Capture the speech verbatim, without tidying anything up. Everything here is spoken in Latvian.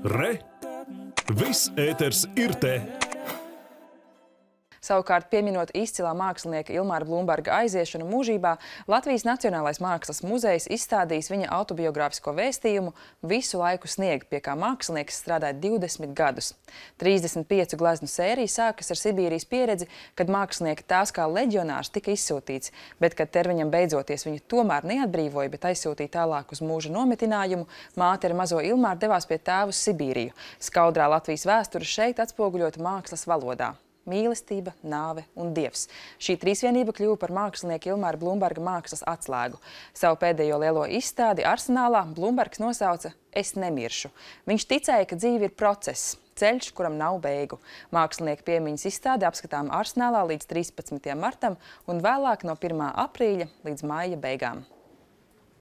Re! Viss ēters ir te! Savukārt, pieminot izcilā mākslinieka Ilmāra Blumberga aiziešanu mūžībā, Latvijas Nacionālais mākslas muzejs izstādījis viņa autobiogrāfisko vēstījumu Visu laiku snieg, pie kā mākslinieks strādāja divdesmit gadus. trīsdesmit piecu gleznu sērija sākas ar Sibīrijas pieredzi, kad mākslinieka tās kā leģionārs tika izsūtīts, bet, kad termiņam beidzoties viņu tomēr neatbrīvoja, bet aizsūtīja tālāk uz mūža nometinājumu, māte ar mazo Ilmāru devās pie tēva uz Sibīriju. Skaudrā Latvijas vēsture šeit atspoguļota mākslas valodā. Mīlestība, nāve un dievs. Šī trīsvienība kļuva par mākslinieku Ilmāra Blumberga mākslas atslēgu. Savu pēdējo lielo izstādi Arsenālā Blumbergs nosauca Es nemiršu. Viņš ticēja, ka dzīve ir process, ceļš, kuram nav beigu. Mākslinieka piemiņas izstāde apskatām Arsenālā līdz trīspadsmitajam martam un vēlāk no pirmā aprīļa līdz maija beigām.